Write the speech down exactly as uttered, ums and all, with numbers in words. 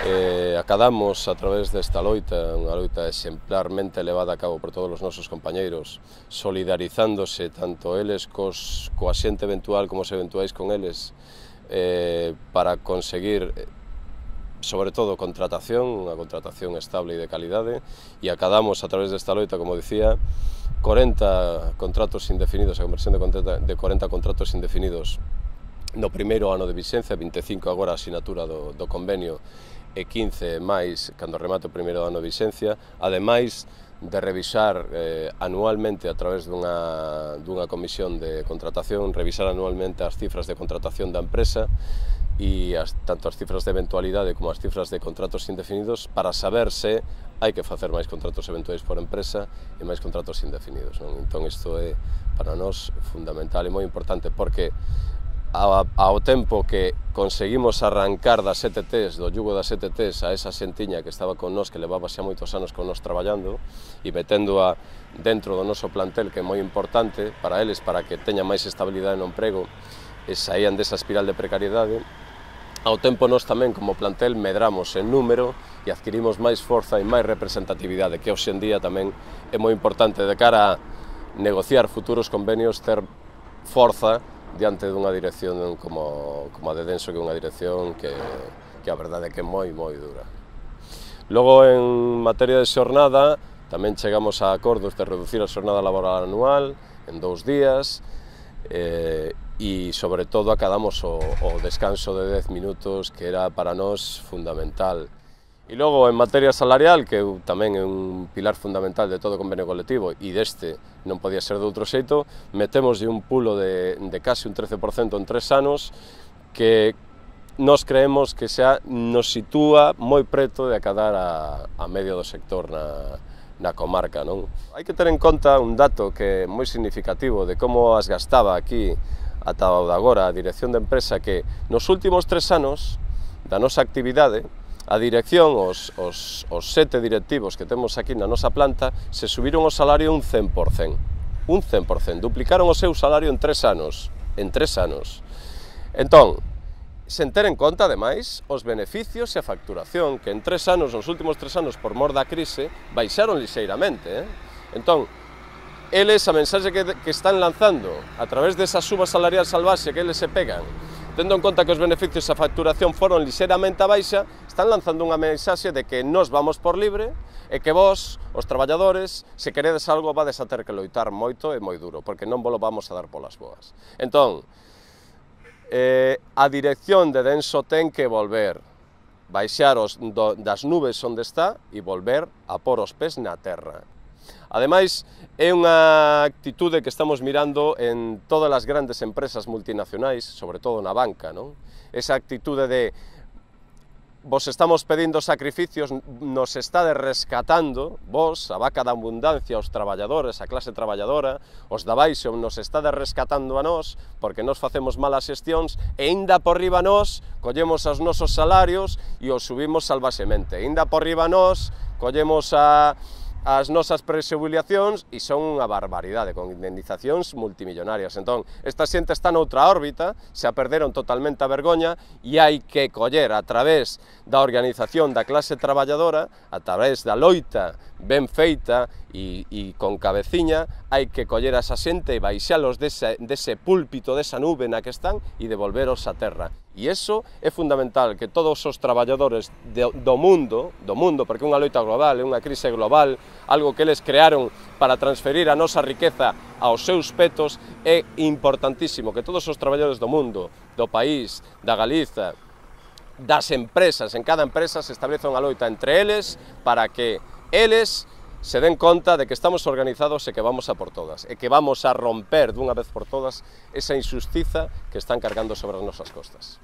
Eh, acadamos a través desta loita, unha loita exemplarmente levada a cabo por todos os nosos compañeiros, solidarizándose tanto eles cos, coa xente eventual como os eventuais con eles, eh, para conseguir, sobre todo, contratación, unha contratación estable e de calidade, e acadamos a través desta loita, como dicía, corenta contratos indefinidos, a conversión de corenta contratos indefinidos no primeiro ano de vixencia, vinte e cinco agora a asinatura do, do convenio e quince máis cando remate o primeiro ano de vixencia, ademais de revisar eh, anualmente a través dunha, dunha comisión de contratación, revisar anualmente as cifras de contratación da empresa e as, tanto as cifras de eventualidade como as cifras de contratos indefinidos para saber se hai que facer máis contratos eventuais por empresa e máis contratos indefinidos, non? Entón isto é para nós fundamental e moi importante porque ao tempo que conseguimos arrancar das E T Tes, do yugo das E T Tes a esa xentiña que estaba con nós, que levaba xa moitos anos con nós traballando e meténdoa dentro do noso plantel, que é moi importante para eles, para que teñan máis estabilidade no emprego e saían desa espiral de precariedade, ao tempo nós tamén como plantel medramos en número e adquirimos máis forza e máis representatividade, que hoxe en día tamén é moi importante de cara a negociar futuros convenios, ter forza diante dunha dirección como, como a de Denso, que é unha dirección que, que a verdade é que é moi, moi dura. Logo, en materia de xornada, tamén chegamos a acordos de reducir a xornada laboral anual en dous días eh, e, sobre todo, acadamos o, o descanso de dez minutos, que era para nós fundamental. E logo, en materia salarial, que tamén é un pilar fundamental de todo o convenio colectivo e deste non podía ser de outro xeito, metemos un pulo de, de case un trece por cento en tres anos que nos creemos que xa nos sitúa moi preto de acadar a, a medio do sector na, na comarca, non? Hai que ter en conta un dato que é moi significativo de como as gastaba aquí ata o de agora a dirección de empresa, que nos últimos tres anos da nosa actividade a dirección, os, os, os sete directivos que temos aquí na nosa planta, se subiron o salario un cen por cen. Un cen por cen. Duplicaron o seu salario en tres anos. En tres anos. Entón, sen ter en conta, ademais, os beneficios e a facturación, que en tres anos, nos últimos tres anos, por mor da crise, baixaron lixeiramente. Eh? Entón, eles, a mensaxe que, que están lanzando a través desa suba salarial salvaxe que eles se pegan, tendo en conta que os beneficios e a facturación foron lixeiramente a baixa, están lanzando unha mensaxe de que nós vamos por libre e que vos, os traballadores, se queredes algo, vades a ter que loitar moito e moi duro, porque non vos lo vamos a dar polas boas. Entón, eh, a dirección de Denso ten que volver, baixar os, do, das nubes onde está e volver a pôr os pés na terra. Ademais, é unha actitude que estamos mirando en todas as grandes empresas multinacionais, sobre todo na banca, non? Esa actitude de vos estamos pedindo sacrificios, nos estade rescatando, vos, a vaca da abundancia, os traballadores, a clase traballadora, os da baixo, nos estade rescatando a nós, porque nós facemos malas xestións, e inda por riba nós, collemos os nosos salarios e os subimos salvaxemente. Inda por riba nós, collemos a as nosas presubiliacións e son unha barbaridade, con indemnizacións multimillonarias. Entón, esta xente está noutra órbita, se a perderon totalmente a vergoña e hai que coller a través da organización da clase traballadora, a través da loita ben feita e, e con cabeciña, hai que coller a esa xente e baixalos dese, dese púlpito, desa nube na que están e devolveros a terra. E iso é fundamental, que todos os traballadores de, do mundo, do mundo, porque é unha loita global, é unha crise global, algo que eles crearon para transferir a nosa riqueza aos seus petos, é importantísimo que todos os traballadores do mundo, do país, da Galiza, das empresas, en cada empresa se establece unha loita entre eles para que eles se den conta de que estamos organizados e que vamos a por todas, e que vamos a romper dunha vez por todas esa injustiza que están cargando sobre as nosas costas.